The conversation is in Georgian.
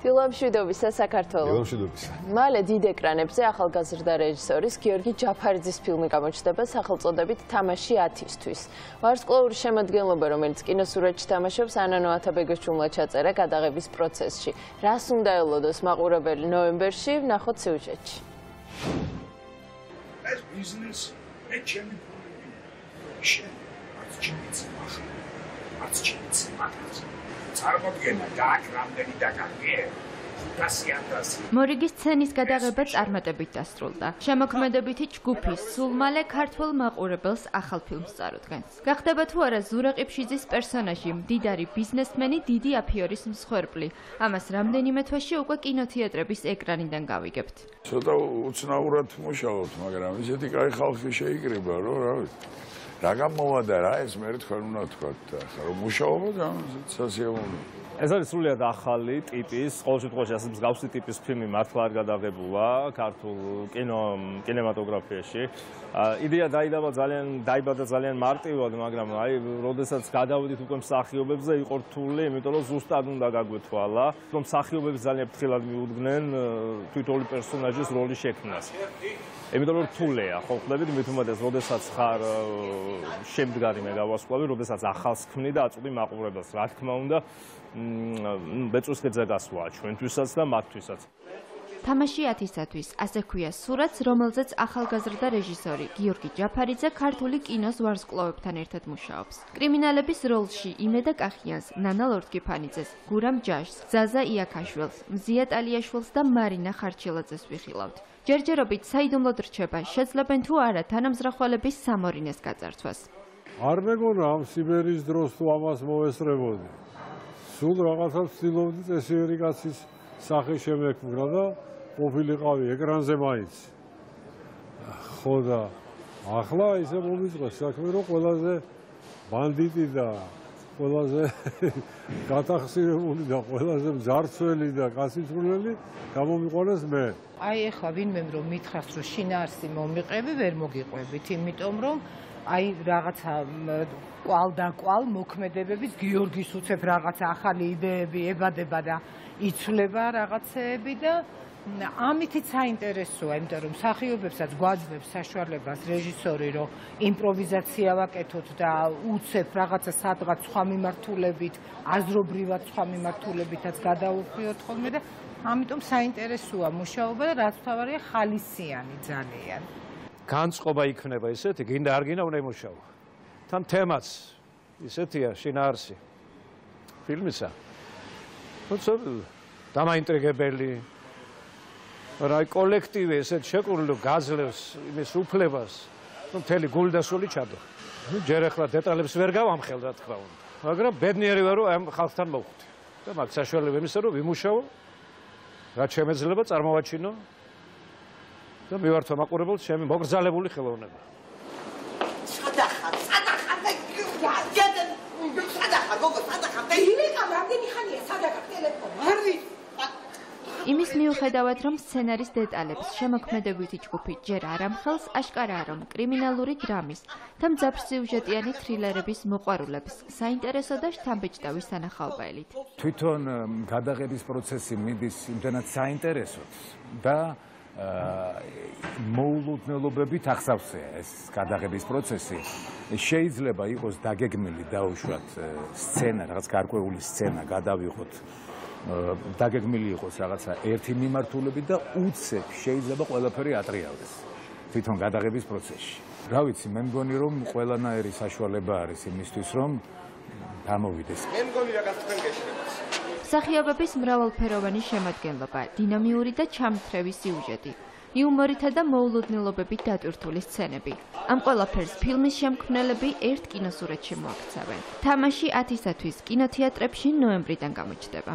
დილამშვიდობისა საქართველო. დილამშვიდობისა. მალე დიდ ეკრანებზე ახალგაზრდა რეჟისორის გიორგი ჯაფარიძის ფილმი გამოჩნდება სახელწოდებით თამაში 10-ისთვის. ვარსკვლავური შემადგენლობა, რომელიც კინოსურათში თამაშობს, ანანო ათაბეგოჩუმლა ჩაწერა გადაღების პროცესში. რას უნდა ელოდოს მაყურებელი ნოემბერში, ვნახოთ სიუჟეტში. ეს ბიზნესი ეჩემი წარმოდგენა და რამდენი დაგაგე მორიგის სცენის გადაღება წარმატებით დასრულდა. შემოქმედებითი ჯგუფი სულ მალე ქართველ მაყურებელს ახალ ფილმს წარუდგენს. გახდება თუ არა ზურა ყიფშიძის პერსონაჟი, მდიდარი ბიზნესმენი, დიდი აფიორის მსხვერპლი. ამას რამდენიმე თვეში უკვე კინოთეატრების ეკრანიდან გავიგებთ. ცოტა უცნაურად მუშაობთ, მაგრამ ისეთი კაი ხალხი შეიკრიბა, რომ რა ვიცი. რა გამოვადა რა ეს მე თქვენ უნდა თქვათ ახლა რომ მუშაობა და სასიამოვნო. ეს არის სრულიად ახალი ტიპის, ყოველ შემთხვევაში ასე მსგავსი ტიპის ფილმი მართლა არ გადაღებულა ქართულ კინემატოგრაფიაში. იდეა დაიბადა ძალიან მარტივად, მაგრამ აი, როდესაც გადავიდით უკვე მსახიობებზე, იყო რთული, იმიტომ რომ ზუსტად უნდა გაგვეთვალა, რომ მსახიობები ძალიან ფრთხილად მიუდგნენ თვითონი პერსონაჟის როლის შექმნას. იმიტომ რომ რთულია, ხო ხვდებით, მით უმეტეს, როდესაც ხარ შემდგარი მეგავარსკვლავი, როდესაც ახალს ქმნი და აწვდი მაყურებელს, რა თქმა უნდა, ბეწვის ქედზე გასვლა ჩვენთვისაც და მათთვისაც. თამაში 10-ისთვის, ასე ქვია სურათს, რომელზეც ახალგაზრდა რეჟისორი გიორგი ჯაფარიძე ქართული კინოს ვარსკვლავებთან ერთად მუშაობს. კრიმინალების როლში იმედა კახიანს, ნანა ლორთქიფანიძეს, გურამ ჯაშს, ზაზა იაკაშვილს, მზია ტალიაშვილს და მარინა ხარჩილაძეს ვიხილავთ. ჯერჯერობით საიდუმლოდ რჩება, შეძლებენ თუ არა თანამზრახველების სამორინეს გაწართვას. არ მეგონა ამ სიბერის დროს თუ ამას მოესწრებოდი. სულ რაღაცა ვცდილობდი წესიერი კაცის სახე შემექმნა და ყოფილიყავი ეკრანზე მაინც. ხო და ახლა ისე მომიწყეს საქმე, რომ ყველაზე ბანდიტი და ყველაზე გათახსირებული და ყველაზე მძარცველი და კაცისმრული გამომიყვანეს მე. აი ეხლა ვინმემ რომ მითხრას რომ შინაარსი მომიყევი, ვერ მოგიყვებით, იმიტომ რომ აი რაღაცა კვალ და კვალ მოქმედებების გიორგის უცებ რაღაცა ახალი იდეები ებადება და იცვლება რაღაცეები და ამითიც საინტერესოა, იმიტომ რომ მსახიობებსაც გვაძლევს საშუალებას რეჟისორი, რომ იმპროვიზაცია ვაკეთოთ და უცებ რაღაცა სადღაც სხვა მიმართულებით, აზრობრივად სხვა მიმართულებითაც გადავუხვიოთ ხოლმე და ამიტომ საინტერესოა მუშაობა და რაც თავარია ხალისიანი ძალიან. განწყობა იქნება ისეთი, გინდა არ გინდა უნდა იმუშაო. თან თემაც ისეთია შინაარსი ფილმისა. თუმცა დამაინტრიგებელი რა კოლექტივი ესეთ შეკრული გაძლევს იმის უფლებას, რომ მთელი გულდასული ჩადო. ჯერ ახლა დეტალებს ვერ გავამხელ რა თქმა უნდა, მაგრამ ბედნიერი ვარ რომ ამ ხალხთან მოვხვდი. და მაგ საშუალება იმისა რომ ვიმუშაო, რაც შემეძლება წარმოვაჩინო და მივართვა მაყურებელს ჩემი მოგრძალებული ხელოვნება. იმის მიუხედავად, რომ სცენარის დეტალებს შემოქმედებითი ჯგუფი ჯერ არ ამხელს, აშკარაა, რომ კრიმინალური დრამის და მძაფრ სიუჟეტიანი თრილერების მოყვარულებს საინტერესო და შთამბეჭდავი სანახაობელით. თვითონ გადაღების პროცესი მიდის იმდენად საინტერესოდ და მოულოდნელობებით ახსავსეა ეს გადაღების პროცესი. შეიძლება იყოს დაგეგმილი დაუშვათ სცენა, რაღაც გარკვეული სცენა გადავიღოთ, დაგეგმილი იყოს რაღაცა ერთი მიმართულებით და უცებ შეიძლება ყველაფერი ატრიალდეს თვითონ გადაღების პროცესში. რა ვიცი, მე მგონი რომ ყველანაირი საშუალება არის იმისთვის, რომ გამოვიდეს. მე მგონი რაღაც თქვენ გეშლებას. მსახიობების მრავალფეროვანი შემადგენლობა, დინამიური და ჩამთრევი სიუჟეტი, იუმორითა და მოულოდნელობებით დატვირთული სცენები. ამ ყველაფერს ფილმის შემქმნელები ერთ კინოსურათში მოაქცევენ. თამაში 10-ისთვის კინოთეატრებში ნოემბრიდან გამოჩნდება.